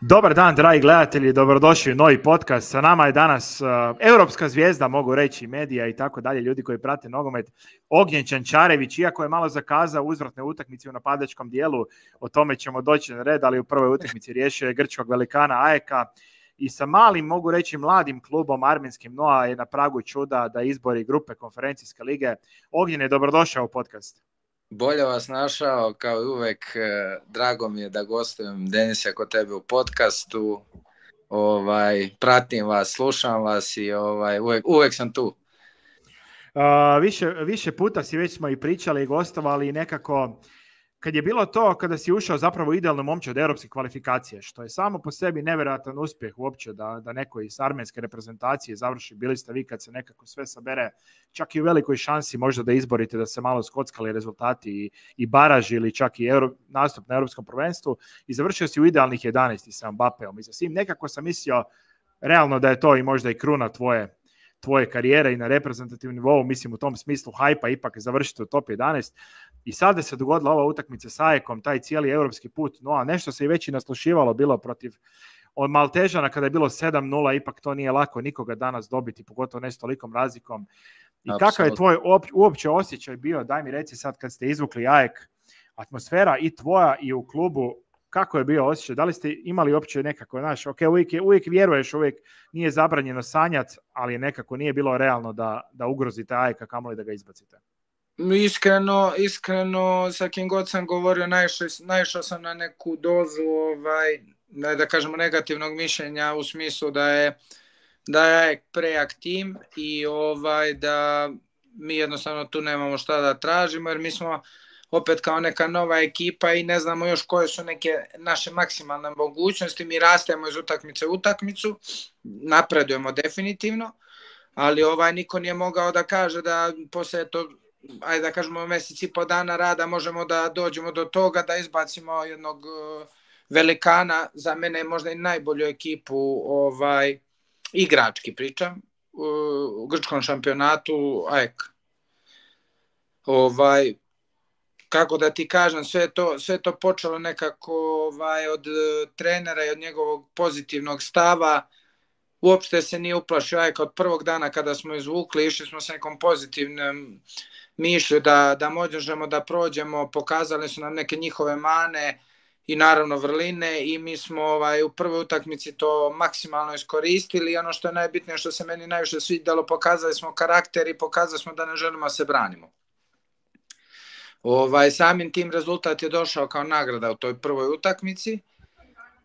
Dobar dan, dragi gledatelji, dobrodošli u novi podcast. Sa nama je danas europska zvijezda, mogu reći, medija i tako dalje, ljudi koji prate nogomet, Ognjen Čančarević, iako je malo zakazao uzvratne utakmice u napadačkom dijelu, o tome ćemo doći na red, ali u prvoj utakmici riješio je grčkog velikana AEK-a i sa malim, mogu reći, mladim klubom armenskim Noa je na pragu čuda da izbori grupe konferencijske lige. Ognjen je dobrodošao u podcast. Bolje vas našao, kao i uvek, drago mi je da gostujem, Denise, kod tebe u podcastu. Pratim vas, slušam vas i uvek sam tu. Više puta smo i pričali i gostovali i nekako kad je bilo to, kada si ušao zapravo idealno momče od europske kvalifikacije, što je samo po sebi nevjerojatan uspjeh uopće da neko iz armenske reprezentacije završi, bili ste vi kad se nekako sve sabere, čak i u velikoj šansi možda da izborite da se malo skockali rezultati i baraž ili čak i nastup na europskom prvenstvu i završio si u idealnih 11 sa Mbapeom i sa svim. Nekako sam mislio realno da je to i možda i kruna tvoje karijere i na reprezentativnom nivou, mislim u tom smislu hajpa ipak završiti u top 11 i sada se dogodila ova utakmica s AEK-om, taj cijeli europski put, no a nešto se i već i naslušivalo bilo protiv od Maltežana kada je bilo 7-0, ipak to nije lako nikoga danas dobiti, pogotovo ne s tolikom razlikom. I kakav je tvoj uopće osjećaj bio, daj mi reci sad kad ste izvukli AEK, atmosfera i tvoja i u klubu, kako je bio osjećaj? Da li ste imali uopće nekako, znaš, uvijek vjeruješ, uvijek nije zabranjeno sanjati, ali nekako nije bilo realno da ugrozite AEK, kamoli da ga izbacite? Iskreno, sa kim god sam govorio, naišao sam na neku dozu, da kažemo, negativnog mišljenja u smislu da je AEK prejak tim i da mi jednostavno tu nemamo šta da tražimo, jer mi smo opet kao neka nova ekipa i ne znamo još koje su neke naše maksimalne mogućnosti. Mi rastemo iz utakmice u utakmicu, napredujemo definitivno, ali niko nije mogao da kaže da poslije to, ajde da kažemo, mjesec i po dana rada možemo da dođemo do toga da izbacimo jednog velikana, za mene možda i najbolju ekipu, igrački pričam, u grčkom šampionatu AEK. Kako da ti kažem, sve to počelo nekako od trenera i od njegovog pozitivnog stava. Uopšte se nije uplašio AEK od prvog dana kada smo izvukli, išli smo s nekom pozitivnom mišlju da možemo da prođemo, pokazali su nam neke njihove mane i naravno vrline i mi smo u prvoj utakmici to maksimalno iskoristili i ono što je najbitnije, što se meni najviše svidjelo, pokazali smo karakter i pokazali smo da ne želimo da se branimo. Samim tim rezultat je došao kao nagrada u toj prvoj utakmici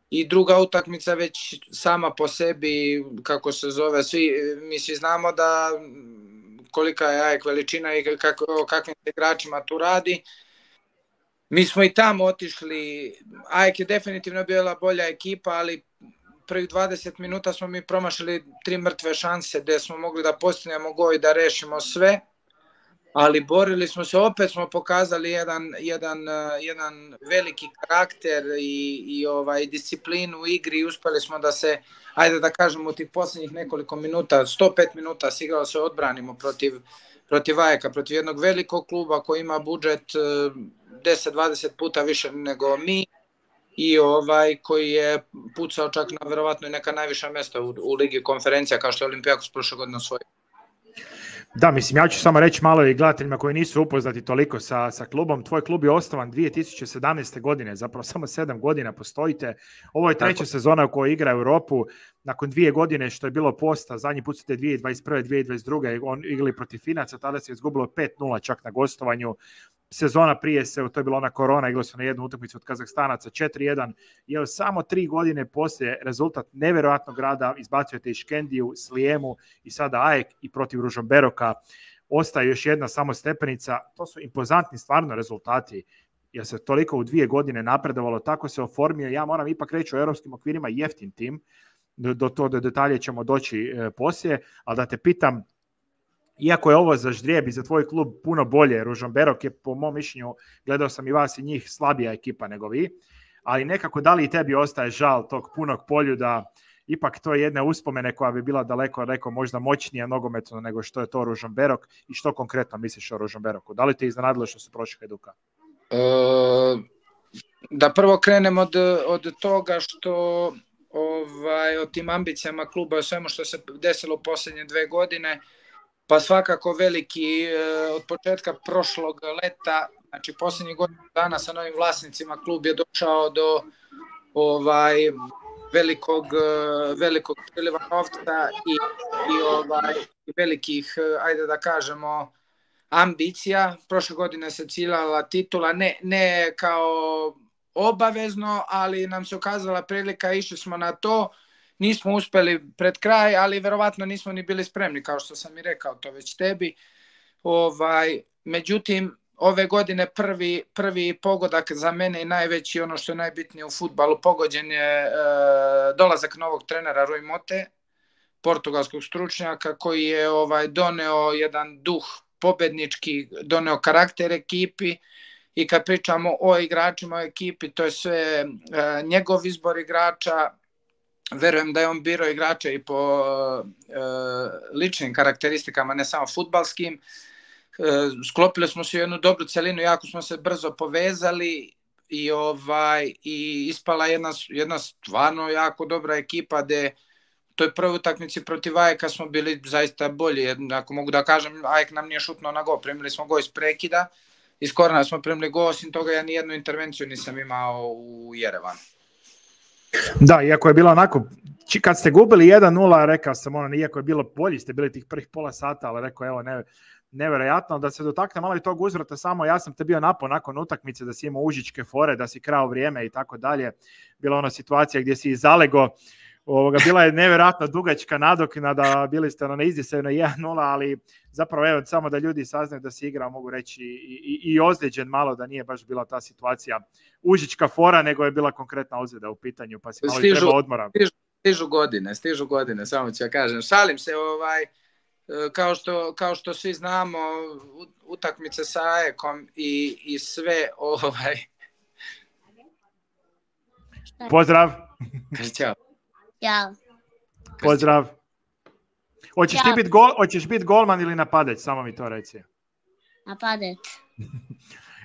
i druga utakmica već sama po sebi, kako se zove, mi svi znamo da kolika je AEK veličina i kakvim igračima tu radi. Mi smo i tamo otišli, AEK je definitivno bila bolja ekipa, ali prvih 20 minuta smo mi promašili 3 mrtve šanse gdje smo mogli da postignemo gol i da rešimo sve. Ali borili smo se, opet smo pokazali jedan veliki karakter i disciplinu u igri i uspjeli smo da se, ajde da kažemo, u tih posljednjih nekoliko minuta, 105 minuta se igralo, se odbranimo protiv AEK-a, protiv jednog velikog kluba koji ima budžet 10-20 puta više nego mi i koji je pucao čak na verovatno i neka najviša mjesta u Ligi konferencija, kao što je Olimpijakos prošle godine osvojio. Da, mislim, ja ću samo reći malo i gledateljima koji nisu upoznati toliko sa klubom. Tvoj klub je osnovan 2017. godine, zapravo samo 7 godina postojite. Ovo je treća sezona u kojoj igra Europu. Nakon 2 godine što je bilo posta, zadnji put ste 2021. 2022. on igrali protiv Finaca, tada se izgubilo 5-0 čak na gostovanju. Sezona prije to je bila ona korona, igrali su na jednu utakmicu od Kazahstanaca 4-1. I evo samo 3 godine poslije rezultat nevjerojatnog rada, izbacujete i Škendiju, Slijemu i sada AEK i protiv Ružomberoka. Ostaje još jedna samo stepenica. To su impozantni stvarno rezultati. Jer se toliko u 2 godine napredovalo, tako se oformio. Ja moram ipak reći u europskim okvirima jeftin tim. Do detalje ćemo doći poslije. Ali da te pitam, iako je ovo za ždrijeb i za tvoj klub puno bolje, Ružomberok je po mom mišljenju, gledao sam i vas i njih, slabija ekipa nego vi, ali nekako da li i tebi ostaje žal tog punog Poljuda, ipak to je jedna uspomene koja bi bila daleko možda moćnija nogometno nego što je to Ružomberok i što konkretno misliš o Ružomberoku? Da li te iznenadilo što su prošli Hajduka? Da prvo krenem od toga što o tim ambicijama kluba, o svemu što se desilo u posljednje 2 godine, pa svakako veliki od početka prošlog leta, znači posljednjih godina dana sa novim vlasnicima, klub je došao do velikog priliva novca i velikih, ajde da kažemo, ambicija. Prošle godine se ciljala titula, ne kao obavezno, ali nam se ukazala prilika, išli smo na to, nismo uspeli pred kraj, ali verovatno nismo ni bili spremni, kao što sam i rekao to već tebi. Međutim, ove godine prvi pogodak za mene i najveći, ono što je najbitnije u fudbalu, pogođen je dolazak novog trenera Rui Mote, portugalskog stručnjaka, koji je doneo jedan duh pobednički, doneo karakter ekipi. I kad pričamo o igračima, o ekipi, to je sve njegov izbor igrača. Verujem da je on birao igrača i po ličnim karakteristikama, ne samo fudbalskim. Sklopili smo se u jednu dobru celinu, jako smo se brzo povezali i ispala jedna stvarno jako dobra ekipa, gde u toj prvoj utakmici protiv Ajeka smo bili zaista bolji. Ako mogu da kažem, Ajek nam nije šutnuo na gol, primili smo gol iz prekida, iz korena smo primili gol, osim toga ja nijednu intervenciju nisam imao u Jerevanu. Da, iako je bilo onako, kad ste gubili 1-0, rekao sam, iako je bilo bolji, ste bili tih prvih pola sata, ali rekao, evo, nevjerojatno, da se dotakne malo i tog uzvrata, samo ja sam te bio napao nakon utakmice, da si imao užičke fore, da si krao vrijeme i tako dalje. Bila ona situacija gdje si i zalego, bila je nevjerojatno dugačka nadoknada, bili ste na izdisaju na 1-0, ali zapravo evo, samo da ljudi saznaju da si igrao, mogu reći, i ozlijeđen malo, da nije baš bila ta situacija užička fora, nego je bila konkretna ozljeda u pitanju, pa si malo i treba odmora. Stižu godine, samo ću ja kažem. Šalim se, kao što svi znamo, utakmice sa Ajekom i sve, Pozdrav. Ćao. Ja. Pozdrav. Hoćeš biti golman ili napadač? Samo mi to reci. Napadač.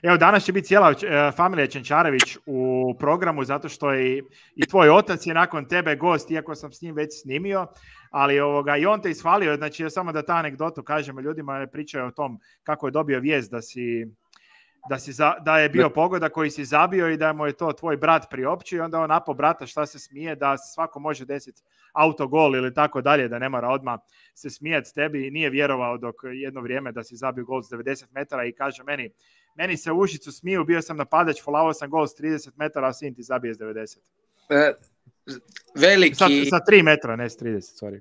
Evo, danas će biti cijela familija Čenčarević u programu, zato što i tvoj otac je nakon tebe gost, iako sam s njim već snimio, ali i on te ishvalio, znači samo da ta anegdotu kažemo ljudima, pričaju o tom kako je dobio vijest da je bio pogodak koji si zabio i da mu je to tvoj brat priopćio i onda on napao brata šta se smije, da svako može desiti autogol ili tako dalje, da ne mora odmah se smijati tebi i nije vjerovao dok jedno vrijeme da si zabio gol s 90 metara i kaže meni se u ušicu smiju, bio sam napadač, followao sam gol s 30 metara, a sin ti zabije s 90. Sa 3 metra, ne s 30, sorry.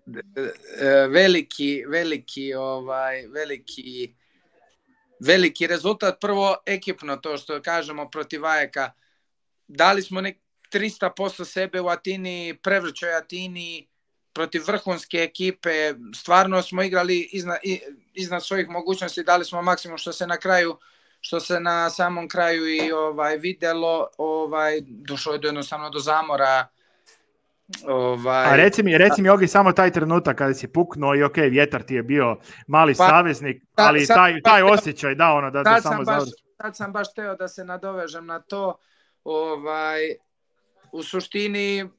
Veliki rezultat, prvo ekipno, to što kažemo protiv Ajeka, dali smo 300% sebe u Atini, prevrćoj Atini, protiv vrhunske ekipe, stvarno smo igrali iznad svojih mogućnosti, dali smo maksimum što se na samom kraju i videlo, došlo je jednostavno do zamora. A reci mi Ogi, samo taj trenutak kada si puknuo i ok, vjetar ti je bio mali saveznik, ali taj osjećaj da samo završi. Sad sam baš teo da se nadovežem na to. U suštini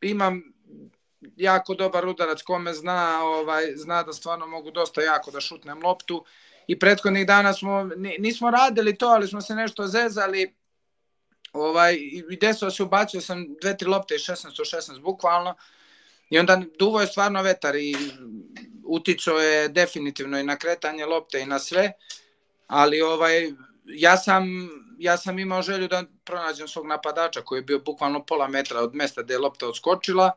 imam jako dobar udarac, kome zna da stvarno mogu dosta jako da šutnem loptu i prethodnih dana nismo radili to, ali smo se nešto zezali. I desilo se, ubacio sam 2-3 lopte iz 16-16 bukvalno i onda duvo je stvarno vetar i uticao je definitivno i na kretanje lopte i na sve, ali ja sam imao želju da pronađem svog napadača koji je bio bukvalno pola metra od mesta gde je lopta odskočila.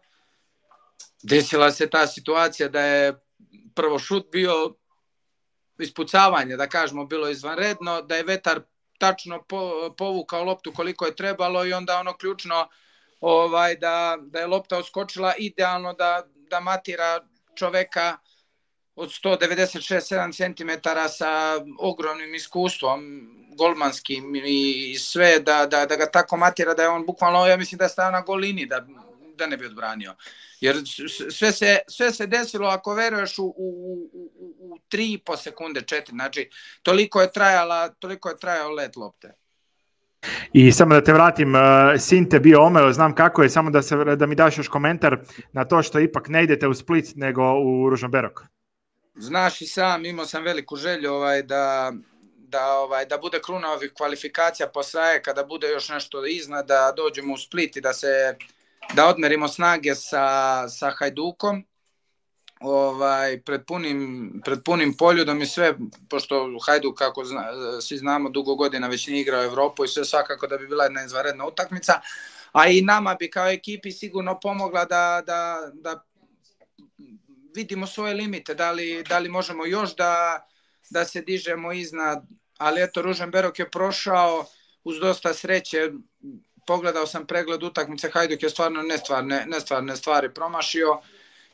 Desila se ta situacija da je prvo šut bio ispucavanje, da kažemo, bilo izvanredno, da je vetar tačno povukao loptu koliko je trebalo i onda ono ključno da je lopta odskočila idealno da matira čoveka od 196-7 cm sa ogromnim iskustvom golmanskim i sve, da ga tako matira da je on bukvalno, ja mislim da je stao na gol liniji da ne bi odbranio. Jer sve se desilo, ako veruješ, u 3,5 sekunde, 4, znači toliko je trajao let lopte. I samo da te vratim, sin te bio omeo, znam kako je, samo da mi daš još komentar na to što ipak ne idete u Split nego u Ružomberok. Znaš i sam, imao sam veliku želju da bude kruna ovih kvalifikacija posle, kada bude još nešto iznad, da dođemo u Split i da odmerimo snage sa Hajdukom. Pred punim Poljudom i sve, pošto Hajduk, kako svi znamo, dugo godina već nije igrao Evropu i sve, svakako da bi bila jedna izvanredna utakmica, a i nama bi kao ekipi sigurno pomogla da vidimo svoje limite, da li možemo još da se dižemo iznad, ali eto, Ružomberok je prošao uz dosta sreće. Pogledao sam pregled utakmice, Hajduk je stvarno nestvarne stvari promašio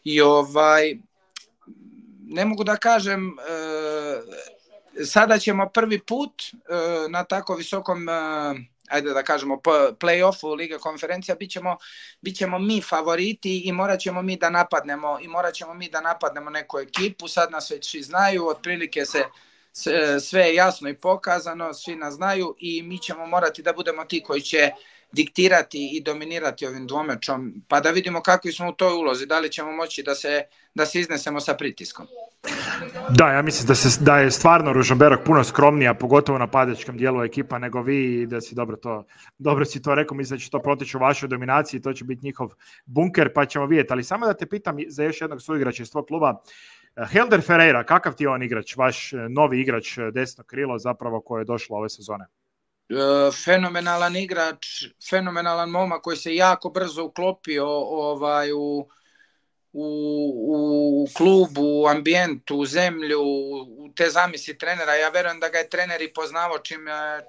i ne mogu da kažem, sada ćemo prvi put na tako visokom, ajde da kažemo, play-offu Lige konferencija, bit ćemo mi favoriti i morat ćemo mi da napadnemo neku ekipu. Sad nas već svi znaju, otprilike sve je jasno i pokazano, svi nas znaju i mi ćemo morati da budemo ti koji će diktirati i dominirati ovim dvomečom, pa da vidimo kakvi smo u toj ulozi, da li ćemo moći da se iznesemo sa pritiskom. Da, ja mislim da je stvarno Ružomberok puno skromnija, pogotovo na napadačkom dijelu ekipa nego vi, i da si dobro si to rekao, mislim da će to proteći u vašoj dominaciji, to će biti njihov bunker, pa ćemo vidjeti. Ali samo da te pitam za još jednog suigrača iz tvog kluba, Helder Ferreira, kakav ti je on igrač, vaš novi igrač desno krilo zapravo koje je došlo ove sezone? Fenomenalan igrač, fenomenalan momak koji se jako brzo uklopio u klubu, u ambijentu, u zemlju, u te zamisli trenera. Ja verujem da ga je trener i poznavao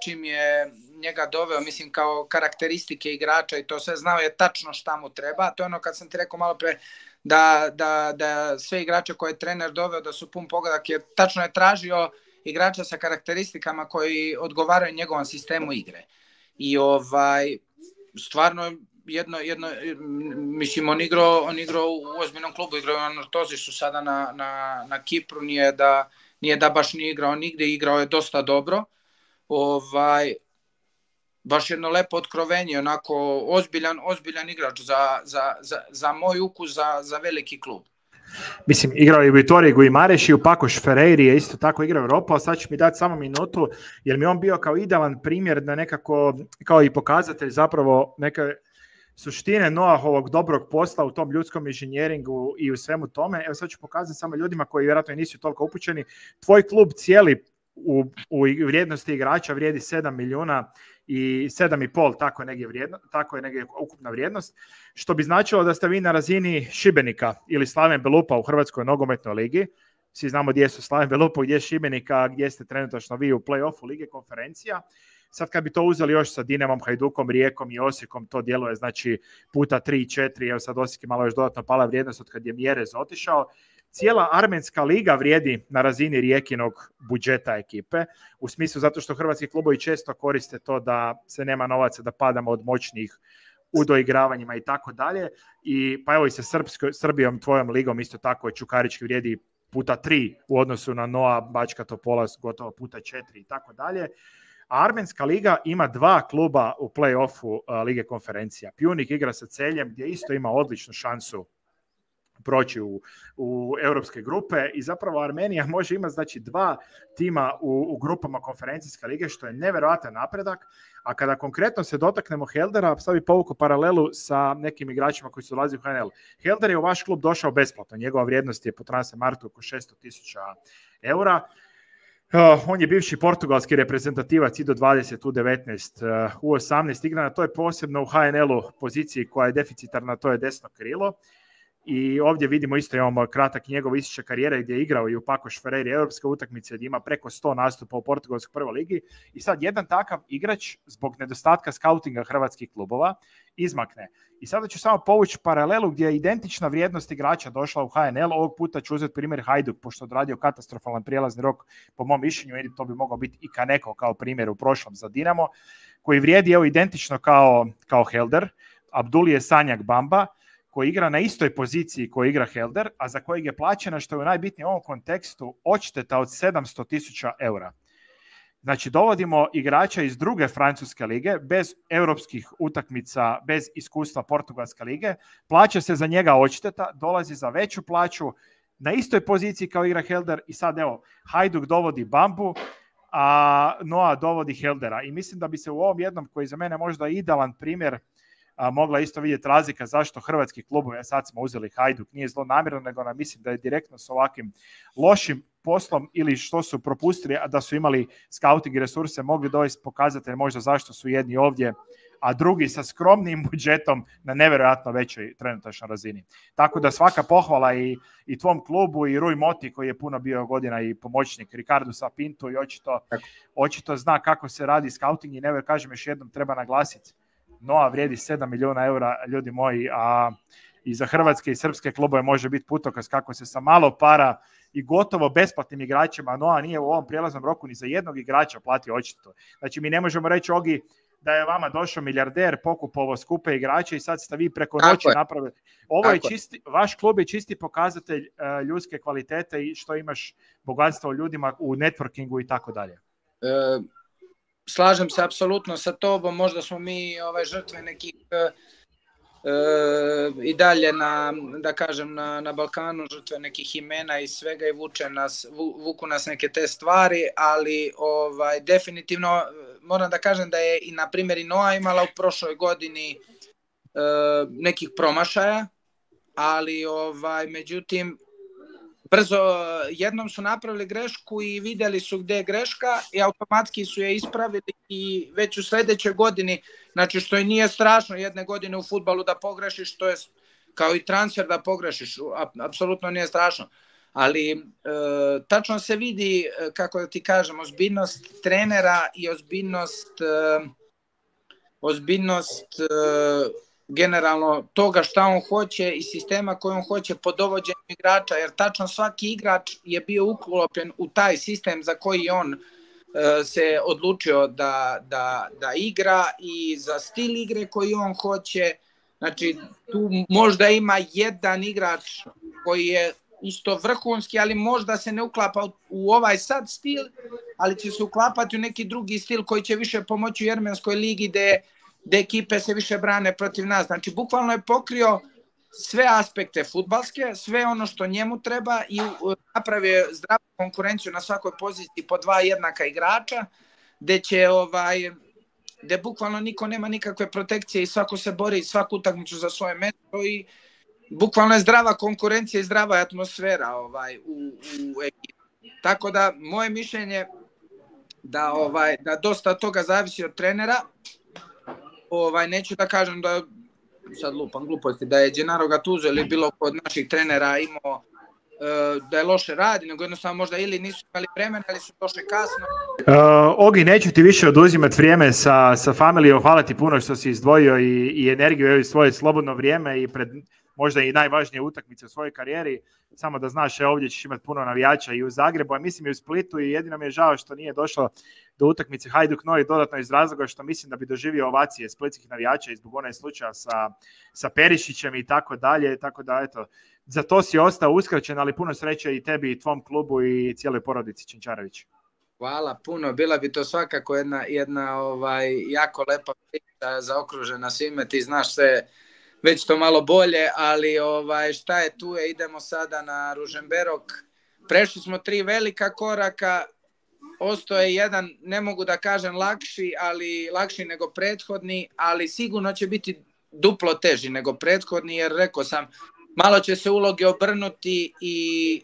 čim je njega doveo, mislim, kao karakteristike igrača i to sve, znao je tačno šta mu treba. To je ono kad sam ti rekao malo pre da sve igrače koje je trener doveo da su pun pogodak, jer tačno je tražio igrača sa karakteristikama koji odgovaraju njegovom sistemu igre. I stvarno mislim, on igrao u ozbiljnom klubu, igrao je na Nortozisu sada na Kipru, nije da baš nije igrao nigde, igrao je dosta dobro. Baš jedno lepo otkrovenje, onako ozbiljan igrač za moj ukus, za veliki klub. Mislim, igrao je u Vitoriji Guimarães i u Pakoš Ferreiri je isto tako igrao Europa, ali sad ću mi dati samo minutu, jer mi on bio kao idealan primjer da nekako, kao i pokazatelj zapravo neke suštine Noahovog dobrog posla u tom ljudskom inženjeringu i u svemu tome. Evo sad ću pokazati samo ljudima koji vjerojatno nisu toliko upućeni. Tvoj klub cijeli u vrijednosti igrača vrijedi 7 milijuna i 7,5, tako je negdje ukupna vrijednost, što bi značilo da ste vi na razini Šibenika ili Slaven Belupa u Hrvatskoj nogometnoj ligi. Svi znamo gdje su Slaven Belupa, gdje je Šibenika, gdje ste trenutačno vi u play-offu Lige konferencija. Sad kad bi to uzeli još sa Dinamom, Hajdukom, Rijekom i Osijekom, to djeluje znači puta 3-4, evo sad Osijek je malo još dodatno pala vrijednost od kad je Mjerez otišao. Cijela armenska liga vrijedi na razini Rijekinog budžeta ekipe, u smislu zato što hrvatski klubovi često koriste to da se nema novaca, da padamo od moćnih u doigravanjima i tako dalje. I pa evo i sa Srbijom, tvojom ligom, isto tako je Čukarički vrijedi puta 3 u odnosu na Noa, Bačka Topola gotovo puta 4 i tako dalje. A armenska liga ima 2 kluba u play-offu Lige konferencija. Pjunik igra sa Celjem gdje isto ima odličnu šansu proći u europske grupe i zapravo Armenija može imati znači 2 tima u grupama konferencijske lige, što je nevjerojatan napredak. A kada konkretno se dotaknemo Heldera, sad bi povukao paralelu sa nekim igračima koji su dolazili u HNL. Helder je u vaš klub došao besplatno, njegova vrijednost je po Transfermarktu oko 600.000 eura. On je bivši portugalski reprezentativac i do 20, U19, U18 igra na toj posebno u HNL-u poziciji koja je deficitarna, to je desno krilo. I ovdje vidimo isto, imamo kratak njegov isječak karijere gdje je igrao i u Pakoš Ferreira europske utakmice gdje ima preko 100 nastupa u portugalskoj prvoj ligi. I sad jedan takav igrač zbog nedostatka skautinga hrvatskih klubova izmakne. I sada ću samo povući paralelu gdje je identična vrijednost igrača došla u HNL. Ovog puta ću uzeti primjer Hajduk, pošto je odradio katastrofalan prijelazni rok po mom mišljenju, i to bi mogao biti i Kaneko kao primjer u prošlom za Dinamo, koji vrijedi evo identično kao Helder. Abdulije Sanjak Bamba, koji igra na istoj poziciji koji igra Helder, a za kojeg je plaćena, što je najbitnije u ovom kontekstu, odšteta od 700.000 eura. Znači, dovodimo igrača iz druge francuske lige, bez europskih utakmica, bez iskustva portugalske lige, plaća se za njega odšteta, dolazi za veću plaću, na istoj poziciji kao igra Helder i sad evo, Hajduk dovodi Bambu, a Noa dovodi Heldera. I mislim da bi se u ovom jednom, koji za mene možda idealan primjer, mogla isto vidjeti razlika zašto hrvatski klubovi, a sad smo uzeli Hajduk, nije zlonamjerno, nego nam mislim da je direktno s ovakvim lošim poslom ili što su propustili, a da su imali scouting resurse, mogli dovesti pokazatelj možda zašto su jedni ovdje, a drugi sa skromnim budžetom na nevjerojatno većoj trenutačnoj razini. Tako da svaka pohvala i tvom klubu i Rui Moti koji je puno bio godina i pomoćnik Ricardo Sapinto i očito zna kako se radi scouting i kažem još jednom treba naglasiti. Noa vrijedi 7 milijuna eura, ljudi moji, a i za hrvatske i srpske klubove može biti putokaz kako se sa malo para i gotovo besplatnim igračima, Noa nije u ovom prijelaznom roku ni za jednog igrača platio očito. Znači mi ne možemo reći, Ogi, da je vama došao milijarder, pokupovao skupe igrače i sad ste vi preko noći napravili. Ovo je čisti, vaš klub je čisti pokazatelj ljudske kvalitete i što imaš bogatstvo u ljudima u networkingu i tako dalje. Slažem se apsolutno sa tobom, možda smo mi žrtve nekih i dalje na Balkanu žrtve nekih imena i svega i vuku nas neke te stvari, ali definitivno moram da kažem da je i na primjer i Noa imala u prošloj godini nekih promašaja, ali međutim brzo jednom su napravili grešku i vidjeli su gdje je greška i automatski su je ispravili i već u sljedećoj godini, znači što i nije strašno jedne godine u fudbalu da pogrešiš, to je kao i transfer da pogrešiš, apsolutno nije strašno. Ali tačno se vidi, kako da ti kažem, ozbiljnost trenera i ozbiljnost generalno toga šta on hoće i sistema koji on hoće po dovođenju igrača, jer tačno svaki igrač je bio uklopljen u taj sistem za koji on se odlučio da igra i za stil igre koji on hoće. Znači tu možda ima jedan igrač koji je isto vrhunski, ali možda se ne uklapa u ovaj sad stil, ali će se uklapati u neki drugi stil koji će više pomoći u Jermenskoj ligi gde ekipe se više brane protiv nas. Znači, bukvalno je pokrio sve aspekte fudbalske, sve ono što njemu treba i napravio zdravu konkurenciju na svakoj poziciji po dva jednaka igrača, gde bukvalno niko nema nikakve protekcije i svako se bori svaku utakmicu za svoje mesto i bukvalno je zdrava konkurencija i zdrava atmosfera u ekipi. Tako da, moje mišljenje da dosta toga zavisi od trenera. Neću da kažem da sad lupam gluposti, da je Gennaro Gattuso ili bilo kod naših trenera imao da je loše radi, nego jednostavno možda ili nisu imali vremena ili su došli kasno. Ogi, neću ti više oduzimati vrijeme sa familijom, hvala ti puno što si izdvojio i energiju i svoje slobodno vrijeme i pred možda i najvažnije utakmice u svojoj karijeri. Samo da znaš, ovdje ćeš imati puno navijača i u Zagrebu, a mislim i u Splitu i jedino mi je žao što nije došlo do utakmice Hajduk Novi dodatno iz razloga što mislim da bi doživio ovacije splitskih navijača i zbog onaj slučaja sa Perišićem i tako dalje, tako da eto, za to si ostao uskraćen, ali puno sreće i tebi i tvom klubu i cijeloj porodici Čenčarević. Hvala puno, bila bi to svakako jedna jako lepa priča zaokružena svime, ti znaš sve već to malo bolje, ali šta je tu je, idemo sada na Ružomberok. Prešli smo 3 velika koraka, ostao je jedan, ne mogu da kažem lakši nego prethodni, ali sigurno će biti duplo teži nego prethodni, jer rekao sam, malo će se uloge obrnuti i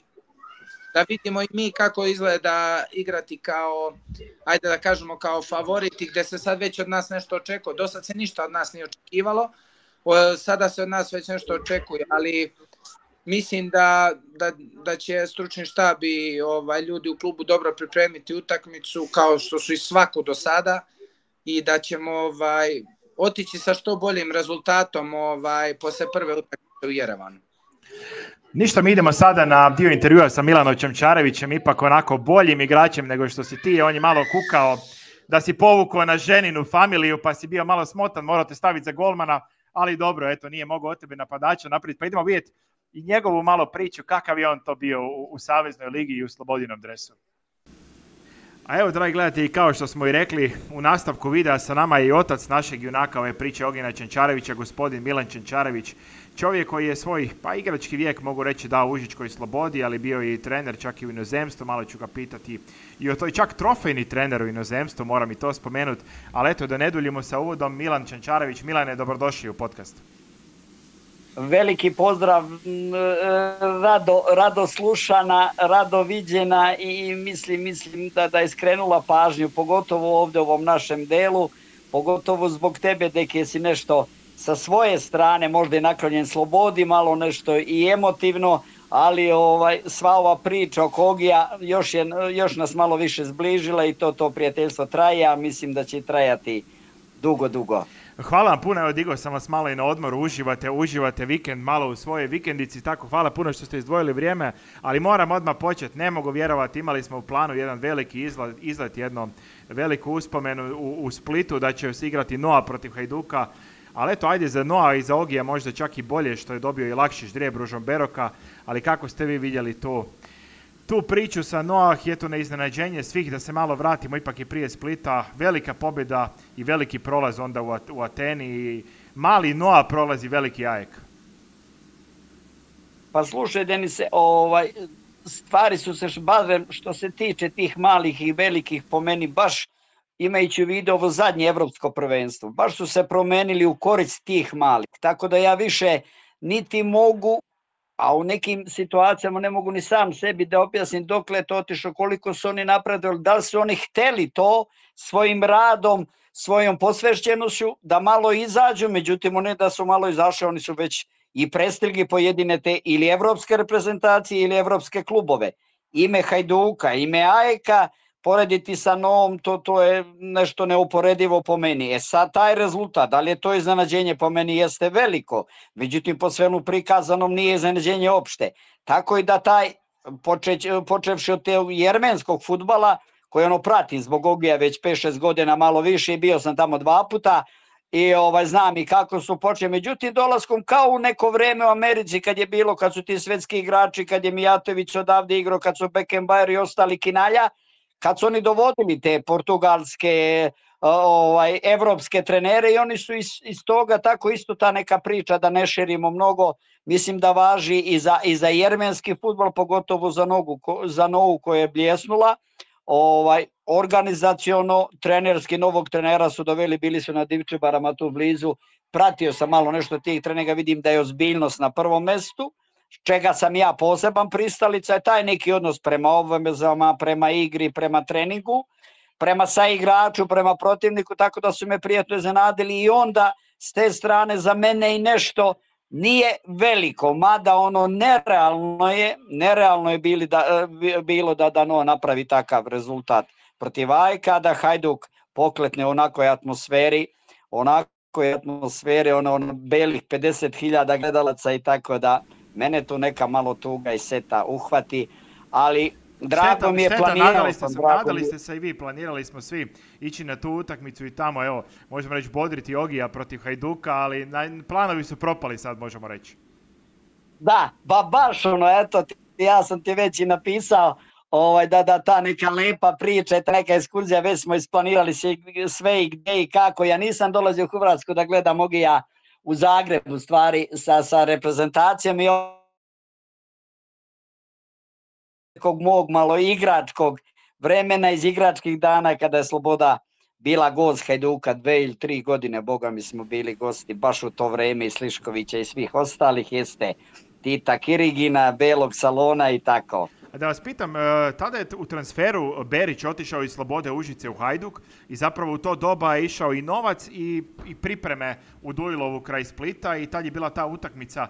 da vidimo i mi kako izgleda igrati kao, ajde da kažemo, kao favoriti, gde se sad već od nas nešto očekuje. Do sad se ništa od nas nije očekivalo, sada se od nas već nešto očekuje, ali mislim da će stručni štab i ljudi u klubu dobro pripremiti utakmicu kao što su i svaku do sada i da ćemo otići sa što boljim rezultatom posle prve utakmice u Jerevanu. Ništa, mi idemo sada na dio intervjua sa Milanom Čemčarevićem, ipak onako boljim igračem nego što si ti. On je malo kukao da si povukao na ženinu familiju pa si bio malo smotan, morao te staviti za golmana, ali dobro, eto, nije mogao od tebe napadača napraviti. Pa idemo vidjeti i njegovu malo priču, kakav je on to bio u Saveznoj ligi i u Slobodinom dresu. A evo, dragi gledatelji, kao što smo i rekli, u nastavku videa sa nama je i otac našeg junaka ove priče Ognjena Čančarevića, gospodin Milan Čančarević. Čovjek koji je svoj, igrački vijek, mogu reći, dao Užičkoj Slobodi, ali bio je i trener čak i u inozemstvu, malo ću ga pitati i o toj čak trofejni trener u inozemstvu, moram i to spomenuti. Ali eto, da ne duljimo sa uvodom, Milan Čančarević. Milane, dobrodošli u podcast. Veliki pozdrav, rado slušana, rado viđena i mislim da je skrenula pažnju, pogotovo ovdje u ovom našem delu, pogotovo zbog tebe, deke si nešto sa svoje strane, možda i naklonjen Slobodi, malo nešto i emotivno, ali sva ova priča oko Ogija još nas malo više zbližila i to prijateljstvo traje, a mislim da će trajati dugo. Hvala vam puno, evo digao sam vas malo i na odmoru, uživate vikend malo u svojoj vikendici, tako hvala puno što ste izdvojili vrijeme, ali moram odmah početi, ne mogu vjerovati, imali smo u planu jedan veliki izlet, jednu veliku uspomenu u Splitu da će se igrati Noa protiv Hajduka, ali eto, ajde za Noa i za Ogija možda čak i bolje što je dobio i lakši ždrijeb Ružom Beroka, ali kako ste vi vidjeli tu priču sa Noah, je to na iznenađenje svih, da se malo vratimo ipak i prije Splita, velika pobjeda i veliki prolaz onda u Ateni i mali Noah prolazi veliki AEK. Pa slušaj Denise, stvari su se barem što se tiče tih malih i velikih po meni baš imajući u vidu ovo zadnje evropsko prvenstvo, baš su se promenili u korist tih malih, tako da ja više niti mogu, a u nekim situacijama ne mogu ni sam sebi da objasnim dokle je to otišlo, koliko su oni napredovali, da li su oni hteli to svojim radom, svojom posvećenošću da malo izađu, međutim ne da su malo izašli, oni su već i prestigli pojedine te ili evropske reprezentacije ili evropske klubove. Ime Hajduka, ime AEK-a, porediti sa Novom, to je nešto neuporedivo po meni. Sad taj rezultat, da li je to iznenađenje, po meni jeste veliko, međutim po svemu prikazanom nije iznenađenje opšte. Tako i da taj, počevši od tog jermenskog fudbala, koji pratim zbog Ogija već 5-6 godina, malo više, i bio sam tamo 2 puta, i znam i kako su počeli. Međutim, dolaskom kao u neko vreme u Americi kad je bilo, kad su ti svetski igrači, kad je Mijatović odavde igrao, kad su Beckenbauer i ostali kinalja, kad su oni dovodili te portugalske, evropske trenere, i oni su iz toga, tako isto ta neka priča, da ne širimo mnogo, mislim da važi i za jermenski fudbal, pogotovo za Novu koja je bljesnula. Organizaciono, trenerski, novog trenera su doveli, bili su na Divčibarama tu blizu, pratio sam malo nešto tih trenera, vidim da je ozbiljnost na prvom mestu, čega sam ja poseban pristalica, je taj neki odnos prema obvezama, prema igri, prema treningu, prema saigraču, prema protivniku, tako da su me prijatno iznenadili, i onda s te strane za mene i nešto nije veliko, mada nerealno je bilo da Noa napravi takav rezultat protiv AEK-a, da Hajduk pokletne onakoj atmosferi, belih 50.000 gledalaca, i tako da mene tu neka malo tuga i seta uhvati, ali drago mi je, nadali ste se i vi, planirali smo svi ići na tu utakmicu i tamo, evo, možemo reći bodriti Ogija protiv Hajduka, ali planovi su propali sad, možemo reći. Da, baš eto, ja sam ti već i napisao da ta neka lepa priča, ta neka ekskurzija, već smo isplanirali sve i gdje i kako. Ja nisam dolazio u Hrvatsku da gledam Ogija u Zagrebu, stvari sa reprezentacijom, i mog malo igračkog vremena, iz igračkih dana, kada je Sloboda bila gost Hajduka 2 ili 3 godine, boga mi smo bili gosti baš u to vreme, i Sliškovića i svih ostalih, jeste Tita Kirigina, Belog Salona i tako. Da vas pitam, tada je u transferu Berić otišao iz Slobode Užice u Hajduk i zapravo u to doba je išao i novac i pripreme u Dujilovu kraj Splita, i tad je bila ta utakmica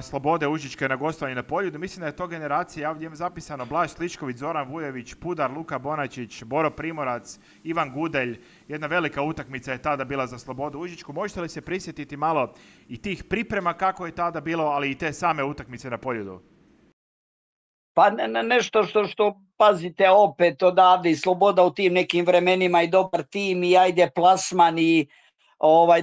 Slobode Užičke na gostovanju na Poljudu. Mislim da je to generacija, ja ovdje imam zapisano Blaž Sličković, Zoran Vujović, Pudar, Luka Bonačić, Boro Primorac, Ivan Gudelj. Jedna velika utakmica je tada bila za Slobodu Užičku. Možete li se prisjetiti malo i tih priprema kako je tada bilo, ali i te same utakmice na Poljudu? Pa nešto što pazite opet odavde, i Sloboda u tim nekim vremenima, i dobar tim, i ajde plasman, i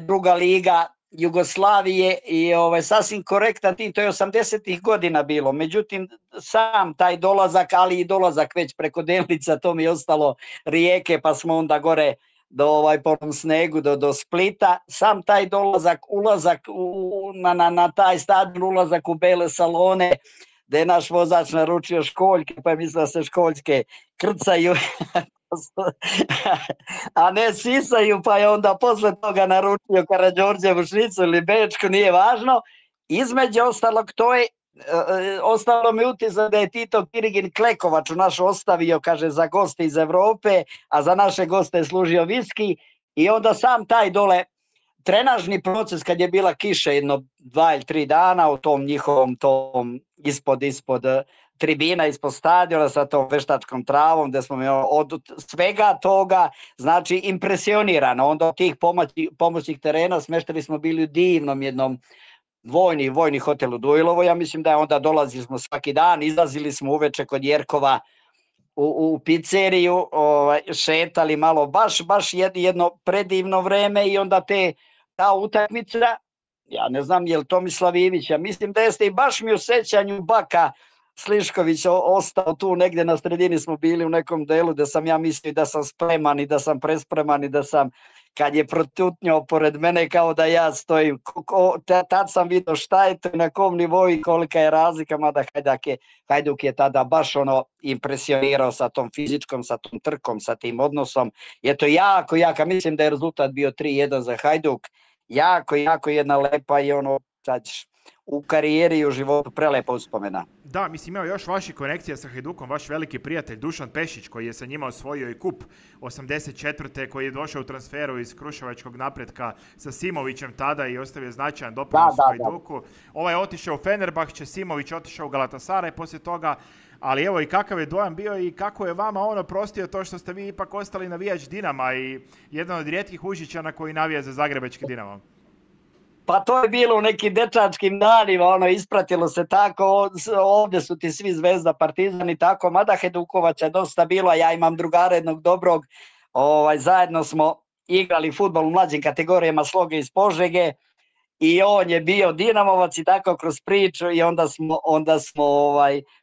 druga liga, Jugoslavije i sasvim korektan tim, to je 80-ih godina bilo, međutim sam taj dolazak, ali i dolazak već preko Delnica, to mi je ostalo Rijeke, pa smo onda gore po onom snegu do Splita, sam taj dolazak, ulazak na taj stadion, ulazak u bele salone, gde je naš vozač naručio školjke, pa je mislio da se školjke krcaju, a ne sisaju, pa je onda posle toga naručio Karađorđevu šnicu ili bečku, nije važno. Između ostalog, to je ostalo mi utisak da je Tito Kirigin Klekovaču naš ostavio, kaže, za goste iz Evrope, a za naše goste je služio viski, i onda sam taj dole trenažni proces, kad je bila kiša jedno 2 ili 3 dana u tom njihovom tom ispod tribina, ispod stadiona sa tom veštačkom travom, gde smo od svega toga, znači, impresionirano. Onda od tih pomoćnih terena smeštali smo bili u divnom jednom vojni hotel u Duilovo, ja mislim da je onda dolazili smo svaki dan, izlazili smo uveče kod Jerkova u pizzeriju, šetali malo, baš jedno predivno vreme, i onda ta utakmica, ja ne znam je li Tomislav Ivić, ja mislim da jeste, i baš mi u sećanju Baka Slišković ostao tu negdje na sredini, smo bili u nekom delu gde sam ja mislio da sam spreman i da sam prespreman i da sam, kad je protutnjao pored mene kao da ja stojim, tad sam vidio šta je to i na kom nivou i kolika je razlika, mada Hajduk je tada baš impresionirao sa tom fizičkom, sa tom trkom, sa tim odnosom. Je to jako, mislim da je rezultat bio 3-1 za Hajduk, jako jedna lepa i sad u karijeri i u životu prelepa uspomena. Da, mislim, imao još vaših konekcija sa Hajdukom, vaš veliki prijatelj Dušan Pešić, koji je sa njima osvojio i kup 84. koji je došao u transferu iz Kruševačkog Napretka sa Simovićem tada i ostavio značajan doprinos u Hajduku. Ovaj je otišao u Fenerbahče, Simović otišao u Galatasaray poslije toga, ali evo i kakav je dojam bio i kako je vama prostio to što ste vi ipak ostali navijač Dinama i jedan od rijetkih Užičana koji navija za zagrebački Dinamo. Pa to je bilo u nekim dečačkim danima, ispratilo se tako, ovdje su ti svi Zvezda, Partizan i tako, mada Hajdukovaca je dosta bilo, a ja imam drugara jednog dobrog, zajedno smo igrali fudbal u mlađim kategorijama Sloge iz Požege i on je bio Dinamovac i tako kroz priču, i onda smo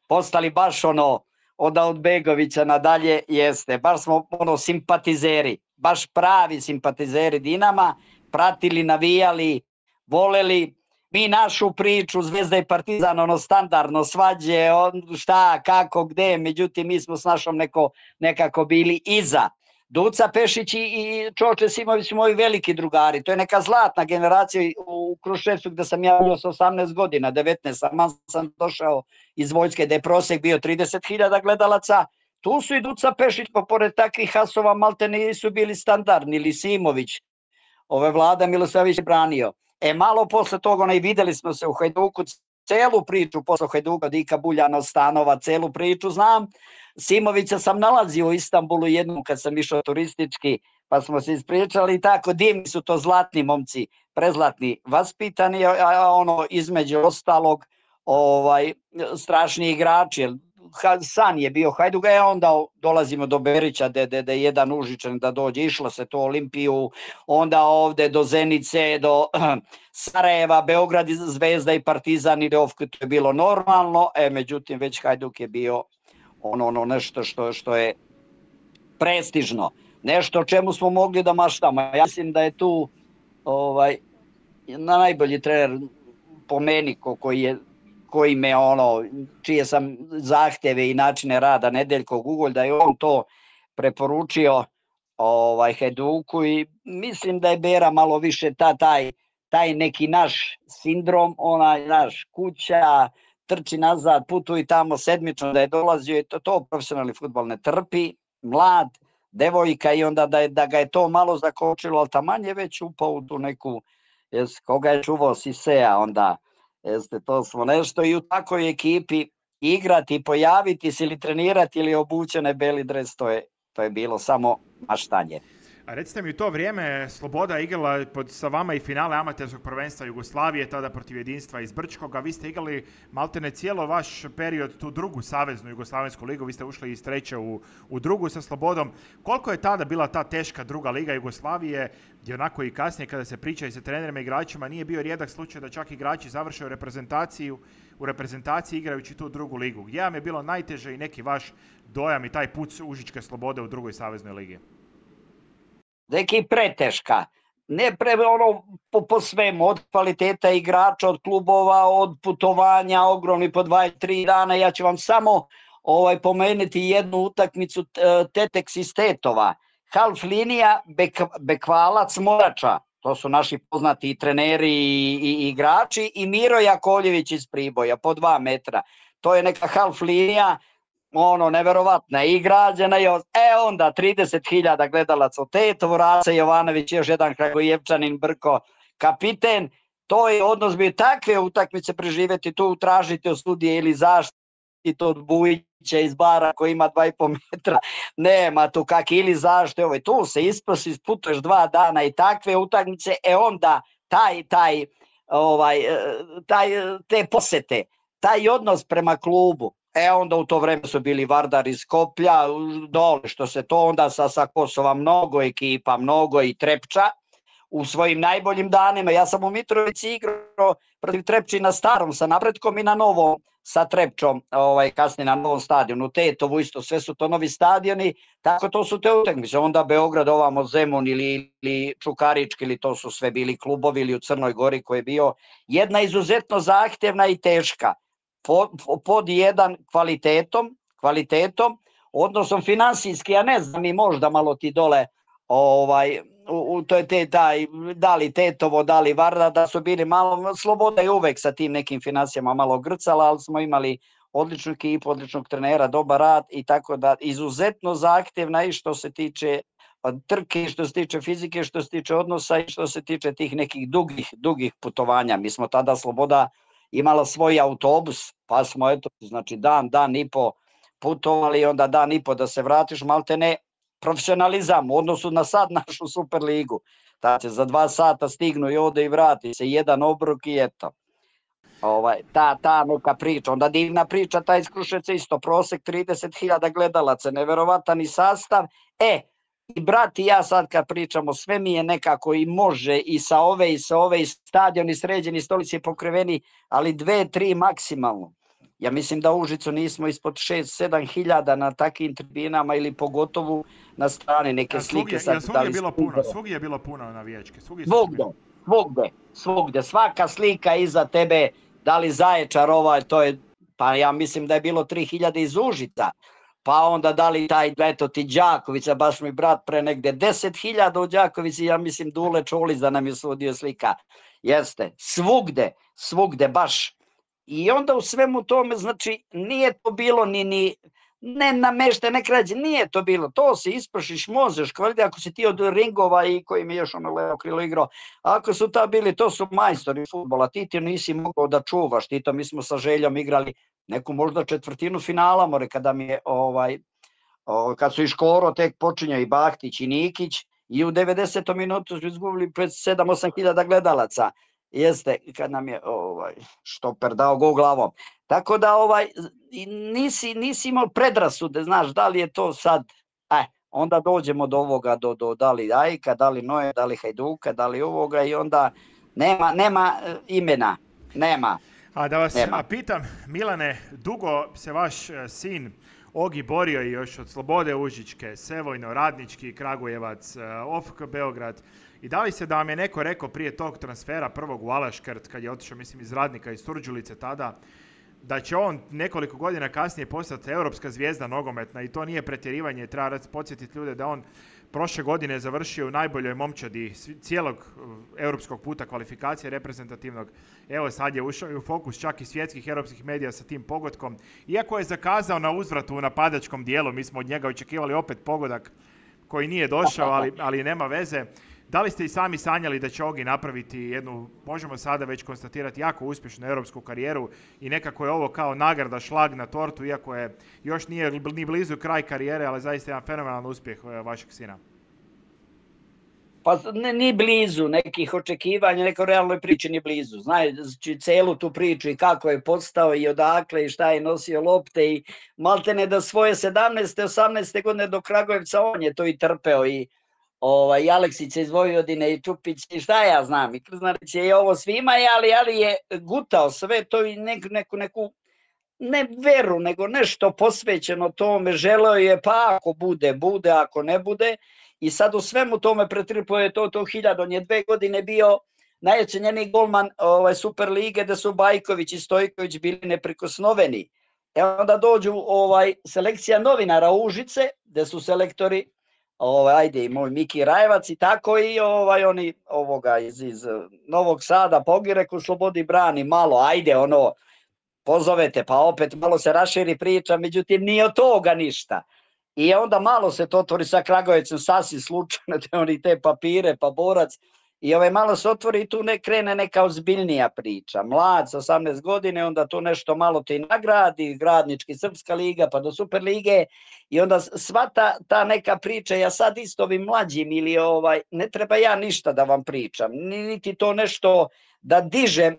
postali baš od Begovića nadalje, jeste, baš smo simpatizeri, baš pravi simpatizeri Dinama, pratili, navijali, voleli mi našu priču, Zvezda i Partizan, standardno svađe, šta, kako, gde, međutim mi smo s našom nekako bili iza. Duca Pešić i Čoče Simović su moji veliki drugari, to je neka zlatna generacija u Kruševcu gde sam ja bio sa 18 godina, 19, sam došao iz vojske gde je prosek bio 30.000 gledalaca, tu su i Duca Pešić, pa pored takvih hasova malte nisu bili standardni, ili Simović, Vlada Milosavljević je branio. Malo posle toga, i videli smo se u Hajduku, celu priču posle Hajduka, Dika Buljana, Stanova, celu priču znam. Simovića sam nalazio u Istanbulu jednom kad sam išao turistički, pa smo se ispričali i tako, divni su to zlatni momci, prezlatni, vaspitani, između ostalog, strašni igrači, san je bio Hajduka, onda dolazimo do Berića, gde je jedan Užičan da dođe, išlo se to Olimpiju, onda ovde do Zenice, do Sarajeva, Beograd, Zvezda i Partizan, i to je bilo normalno, međutim već Hajduk je bio nešto što je prestižno, nešto o čemu smo mogli da maštamo. Ja mislim da je tu najbolji trener po meni koji me čije sam zahtjeve i načine rada, Nedeljko Gugolj, da je on to preporučio Hajduku, i mislim da je Bera malo više taj neki naš sindrom, naš kuća, trči nazad, putuj tamo sedmično, da je dolazio, i to profesionalni fudbal ne trpi, mlad, devojka, i onda da ga je to malo zakočilo, ali taman je već upao u tu neku, koga je čuvao Sisea, onda to smo nešto, i u takvoj ekipi igrati, pojaviti se ili trenirati ili obućene beli dres, to je bilo samo maštanje. A recite mi, u to vrijeme Sloboda igrala sa vama i finale amaterskog prvenstva Jugoslavije, tada protiv Jedinstva iz Brčkoga. Vi ste igrali maltene cijelo vaš period, tu drugu saveznu Jugoslavensku ligu. Vi ste ušli iz treće u drugu sa Slobodom. Koliko je tada bila ta teška druga liga Jugoslavije, gdje onako i kasnije kada se priča i sa trenerima i igračima, nije bio rijedak slučaj da čak igrači završe u reprezentaciji igrajući tu drugu ligu. Gdje vam je bilo najteže i neki vaš dojam i taj put Užičke Slobode u drugoj saveznoj ligi? Neki preteška. Ne po svemu, od kvaliteta igrača, od klubova, od putovanja, ogromni po 2-3 dana. Ja ću vam samo pomenuti jednu utakmicu Teteks iz Tetova. Half linija, Bekvalac, Morača. To su naši poznati i treneri i igrači. I Miro Jakovljević iz Priboja, po 2 metra. To je neka half linija, neverovatna i građena je, onda 30.000 gledalaca u Tetovu, Raca Jovanović, još jedan Kragujevčanin, Brko, kapiten. To je odnos bio takve utakmice preživjeti, tu tražiti od sudije ili zaštitu od Bujića iz Bara koji ima 2,5 metra, nema tu kak ili zaštite, tu se isputuješ 2 dana i takve utakmice, onda te posete, taj odnos prema klubu. Onda u to vreme su bili Vardar iz Skoplja, dole što se to onda sa Kosova mnogo ekipa, mnogo i Trepča u svojim najboljim danima. Ja sam u Mitrovici igrao protiv Trepči na starom sa Napretkom i na novom sa Trepčom, kasnije na novom stadionu, u Tetovu isto, sve su to novi stadioni, tako to su te utakmice. Onda Beograd, ovamo Zemun ili Čukarički, ili to su sve bili klubovi, ili u Crnoj Gori koji je bio jedna izuzetno zahtjevna i teška. Pod jedan kvalitetom, odnosom finansijski, ja ne znam, i možda malo ti dole, da li Tetovo, da li Varda, da su bili malo, Sloboda je uvek sa tim nekim financijama malo grcala, ali smo imali odličnu ekipu, odličnog trenera, dobar rad i tako da, izuzetno zahtjevna i što se tiče trke, što se tiče fizike, što se tiče odnosa i što se tiče tih nekih dugih putovanja. Mi smo tada Sloboda imala svoj autobus, pa smo dan i po putovali, onda dan i po da se vratiš, maltene profesionalizam u odnosu na sad našu Superligu. Znači, za 2 sata stignu i ode i vrati se, jedan obrok i eto. Ta neka priča, onda divna priča, taj iz Kruševca isto, prosek 30.000 gledalaca, neverovatan i sastav. I brat i ja sad kad pričamo, sve mi je nekako i može i sa ove i stadioni sređeni, stolici pokriveni, ali 2-3 maksimalno. Ja mislim da u Užicu nismo ispod 6-7 hiljada na takvim tribinama ili pogotovo na strani neke slike. Svugdje je bilo puno navijačke. Svugdje. Svaka slika iza tebe, da li Zaječar to je, pa ja mislim da je bilo 3.000 iz Užica. Pa onda da li ti Đakovića, baš mi brat pre negde 10.000 u Đakovici, ja mislim Dule Čolić da nam je sudio slika. Jeste, svugde baš. I onda u svemu tome, znači, nije to bilo ne namešte, ne krađe, nije to bilo. To se ispršiš, možeš, kvalitete, ako si ti od ringova i koji mi još levo krilo igrao, ako su ta bili, to su majstori fudbala, ti nisi mogao da čuvaš, mi smo sa Željom igrali neku možda četvrtinu finala, kada mi je, kad su i Škoro tek počinjao i Bahtić i Nikić, i u 90. minutu su izgubili pred 7-8 hiljada gledalaca. Jeste, kad nam je štoper dao gol glavom. Tako da nisi imao predrasude, znaš, da li je to sad, onda dođemo do ovoga, do da li Ajka, da li Noje, da li Hajduka, da li ovoga i onda nema imena, nema. A da vas pitam, Milane, dugo se vaš sin Ogi borio i još od Slobode Užičke, Sevojno, Radnički, Kragujevac, OFK Beograd. I da li se da vam je neko rekao prije tog transfera prvog u Alaškrt, kad je otišao, mislim, iz Radnika, iz Surđulice tada, da će on nekoliko godina kasnije postati europska zvijezda nogometna i to nije pretjerivanje, treba podsjetiti ljude da on prošle godine završio u najboljoj momčadi cijelog europskog puta kvalifikacije reprezentativnog. Evo sad je ušao u fokus čak i svjetskih europskih medija sa tim pogodkom. Iako je zakazao na uzvratu u napadačkom dijelu, mi smo od njega očekivali opet pogodak koji nije došao, ali nema veze. Da li ste i sami sanjali da će Ogi napraviti jednu, možemo sada već konstatirati, jako uspješnu europsku karijeru i nekako je ovo kao nagrada, šlag na tortu, iako je još nije ni blizu kraj karijere, ali zaista jedan fenomenalan uspjeh vašeg sina? Pa ni blizu nekih očekivanja, neko realnoj priči ni blizu. Znači celu tu priču i kako je postao i odakle i šta je nosio lopte i maltene da svoje 17. 18. godine do Kragujevca on je to i trpeo i Aleksić iz Vojvodine i Čupić i šta ja znam. I Krznarić je i ovo svima, ali je gutao sve to i neku ne veru, nego nešto posvećeno tome. Želeo je pa ako bude, ako ne bude. I sad u svemu tome pretrpuje to 1000. On je 2 godine bio najocenjeniji golman Super lige, da su Bajković i Stojković bili neprikosnoveni. Onda dođu selekcija novinara Užice, gde su selektori ajde i moj Miki Rajevac i tako i oni iz Novog Sada Pogireku Slobodi brani malo, ajde pozovete pa opet malo se raširi priča, međutim nije od toga ništa. I onda malo se to otvori sa Kragujevcem sasvim slučajno, oni te papire pa borac i malo se otvori i tu krene neka ozbiljnija priča. Mlad sa 18 godine, onda tu nešto malo te nagradi, Gradnički, Srpska liga pa do Super lige i onda sva ta neka priča, ja sad isto ovim mlađim ili ne treba ja ništa da vam pričam, niti to nešto da dižem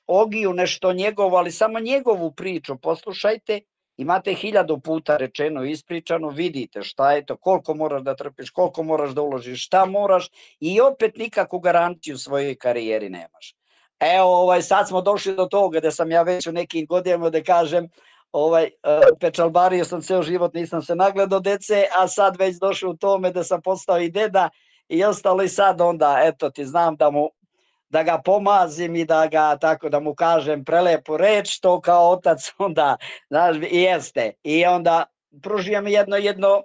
Ogiju nešto njegovo, ali samo njegovu priču poslušajte. Imate 1000 puta rečeno, ispričano, vidite šta je to, koliko moraš da trpiš, koliko moraš da uložiš, šta moraš i opet nikakvu garanciju svojoj karijeri nemaš. Evo, sad smo došli do toga da sam ja već u nekim godinama da kažem, pečalbario sam ceo život, nisam se nagledao dece, a sad već došao u tome da sam postao i deda i ostalo i sad onda, eto ti znam da ga pomazim i da ga tako da mu kažem prelepu reč, to kao otac onda, znaš, jeste. I onda pružujem jedno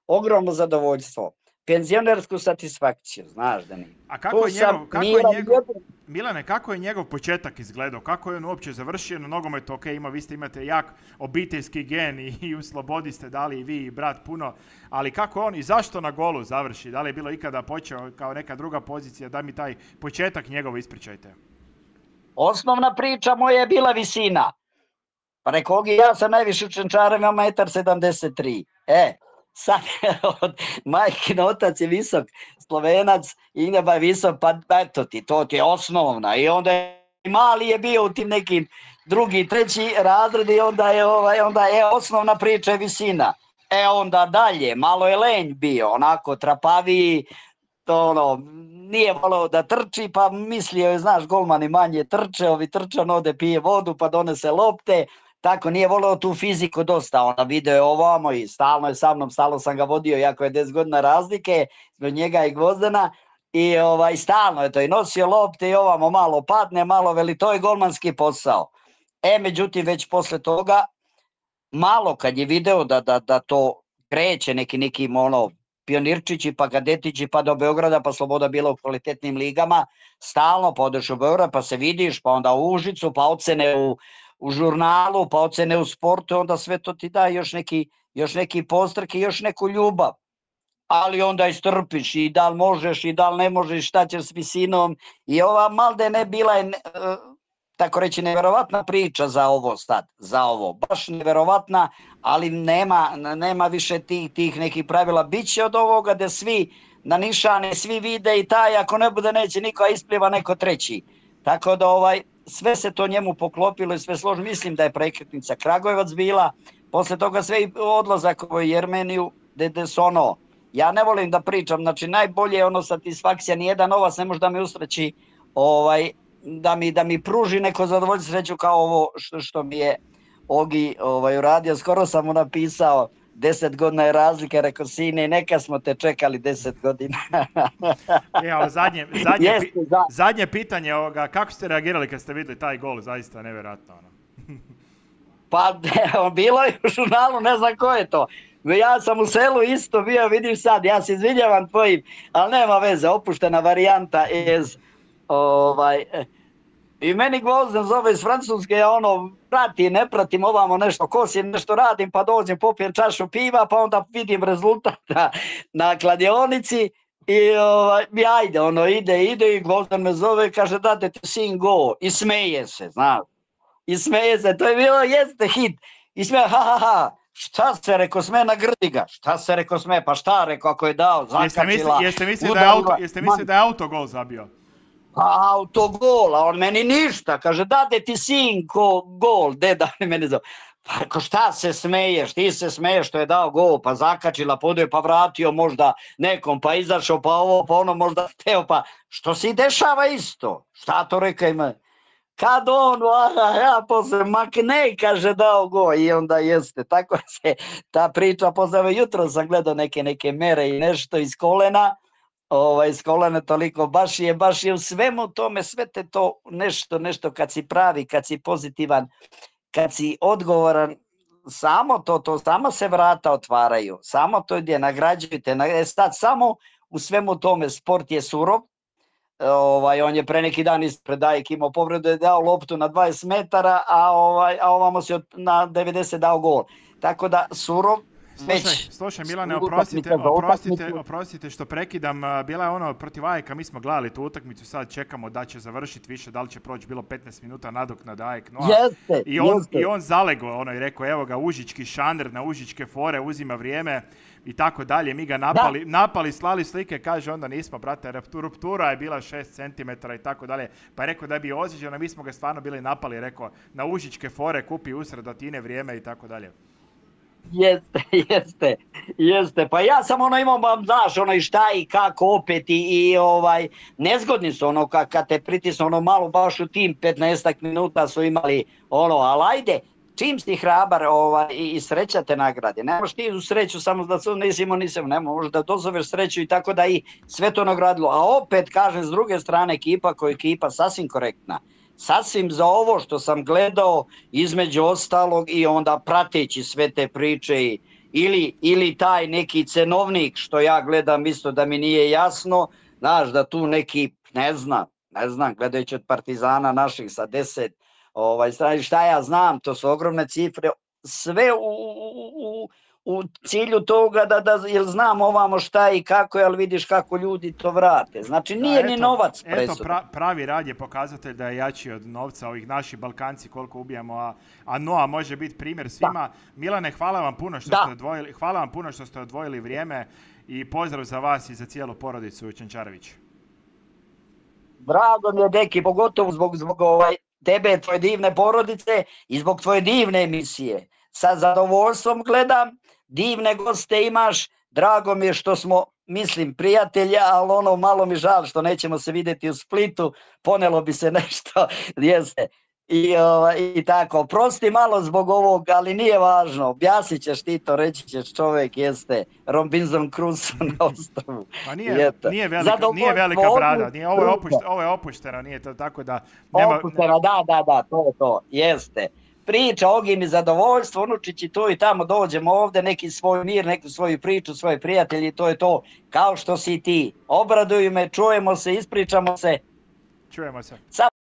ogromno zadovoljstvo, penzionersku satisfakciju, znaš da nije. A Milane, kako je njegov početak izgledao? Kako je on uopće završio na nogometu? Ok, vi imate jak obiteljski gen i u Slobodi ste dali i vi i brat puno, ali kako on i zašto na golu završi? Da li je bilo ikada počeo kao neka druga pozicija? Da mi taj početak njegov ispričajte. Osnovna priča moja je bila visina. Pa rekao, ja sam najviše u Čenčarima, 1,73 m. Sad majkin otac je visok, Slovenac, Ineba je visok, pa eto ti, to ti je osnovna. I onda mali je bio u tim nekim drugi, treći razred i onda je osnovna priča je visina. Onda dalje, malo je lenj bio, onako trapaviji, nije voleo da trči, pa mislio je, znaš, golmani manje trče, ovi trčan ode pije vodu pa donese lopte. Tako, nije voleo tu fiziku dosta, ona video je ovamo i stalno je sa mnom, stalno sam ga vodio, jako je 10 godina razlike, zbog njega i Gvozdena, i stalno je to, i nosio lopte i ovamo malo padne, malo veli, to je golmanski posao. Međutim, već posle toga, malo kad je video da to kreće nekim pionirčići, pa kadetići, pa do Beograda, pa Sloboda bila u kvalitetnim ligama, stalno pa odeš u Beograd, pa se vidiš, pa onda u Užicu, pa ocene u žurnalu, pa ocene u sportu, onda sve to ti daje još neki postrk i još neku ljubav. Ali onda istrpiš i da li možeš i da li ne možeš, šta ćeš s visinom. I ova Maldene bila je, tako reći, neverovatna priča za ovo sad, baš neverovatna, ali nema više tih nekih pravila. Biće od ovoga da svi na nišane, svi vide i taj, ako ne bude neće niko, a ispliva neko treći. Tako da sve se to njemu poklopilo i sve složno. Mislim da je prekretnica Kragujevac bila, posle toga sve i odlazak u Jermeniju, gde su ja ne volim da pričam, znači najbolje je satisfakcija, nijedan novac ne može da me usreći, da mi pruži neko zadovoljstvo, sreću kao ovo što mi je Ogi uradio. Skoro sam mu napisao, 10 godina je razlika, rekao, sine, neka smo te čekali 10 godina. Zadnje pitanje ovoga, kako ste reagirali kad ste vidjeli taj gol, zaista nevjerojatno. Pa bilo je u žurnalu, ne znam ko je to. Ja sam u selu isto bio, vidiš sad, ja se izvinjavam tvojim, ali nema veze, opuštena varijanta i meni Gvozden zove iz Francuske, ja pratim, ne pratim ovamo nešto, kosim, nešto radim, pa dođem, popijem čašu piva, pa onda vidim rezultat na kladionici i ajde, ide i Gvozden me zove, kaže, date ti sin go, i smeje se, znaš, to je bilo, jeste hit, i smeje, ha, Šta se, reko, sme na grdi ga. Šta se, reko, sme, pa šta, reko, ako je dao, zakačila. Jeste mislili da je autogol zabio? Pa autogol, a on meni ništa. Kaže, dade ti sinko gol, deda meni zove. Pa reko, šta se smeješ, ti se smeješ što je dao gol, pa zakačila, poduje, pa vratio možda nekom, pa izašao, pa ovo, pa ono možda hteo, pa što se dešava isto? Šta to reka ima? Kad on, ja posle makne, kaže dao go i onda jeste. Tako se ta priča, posle jutro sam gledao neke mere i nešto iz kolena, iz kolena toliko, baš je u svemu tome, sve te to nešto kad si pravi, kad si pozitivan, kad si odgovoran, samo se vrata otvaraju, samo to gdje nagrađujete, sad samo u svemu tome sport je surov. On je pre neki dan ispred Dajek imao povredu, je dao loptu na 20 metara, a ovamo se na 90 dao gol. Tako da surov već... Slušaj Milane, oprostite što prekidam, bila je ono protiv Ajeka, mi smo gledali tu utakmicu, sad čekamo da će završiti više, da li će proći, bilo 15 minuta nadoknada Ajek Noa. I on zalego i rekao, evo ga, užički šaner na užičke fore, uzima vrijeme i tako dalje, mi ga napali, slali slike, kaže onda nismo, brate, ruptura je bila 6 cm i tako dalje, pa je rekao da bi ozlijeđeno, mi smo ga stvarno bili napali, rekao, na užičke fore kupi usred Atine vrijeme i tako dalje. Jeste, pa ja sam imao, znaš, i šta i kako opet i nezgodni su kad te pritisnu malo baš u tim 15 minuta su imali ali ajde, čim si hrabar i sreća te nagrade, nemaš ti u sreću samo da se nisam, možeš da dozoveš sreću i tako da i sve to nagradilo, a opet kažem s druge strane ekipa koja je ekipa sasvim korektna. Sasvim za ovo što sam gledao između ostalog i onda prateći sve te priče ili taj neki cenovnik što ja gledam isto da mi nije jasno, znaš da tu neki, ne znam, gledajući od Partizana naših sa 10, šta ja znam, to su ogromne cifre, sve u cilju toga jer znam ovamo šta i kako, ali vidiš kako ljudi to vrate. Znači nije ni novac presudan. Pravi rad je pokazatelj da je jači od novca, ovih naši Balkanci koliko ubijamo, a Noa može biti primjer svima. Da. Milane, hvala vam puno što ste odvojili vrijeme i pozdrav za vas i za cijelu porodicu Čančarević. Drago mi je, deki, pogotovo zbog tebe, tvoje divne porodice i zbog tvoje divne emisije. Sa zadovoljstvom gledam, divne goste imaš, drago mi je što smo, mislim, prijatelja, ali malo mi žal što nećemo se vidjeti u Splitu, ponelo bi se nešto, jeste. I tako, prosti malo zbog ovog, ali nije važno, objasnit ćeš ti to, reći ćeš čovjek jeste Robinson Crusoe na ostrovu. Pa nije velika brada, ovo je opušteno, nije to tako da... Opušteno, da, to, jeste. Priča, ogi mi zadovoljstvo, unučići tu i tamo, dođemo ovdje, neki svoj mir, neku svoju priču, svoje prijatelji, to je to, kao što si ti. Obraduju me, čujemo se, ispričamo se. Čujemo se.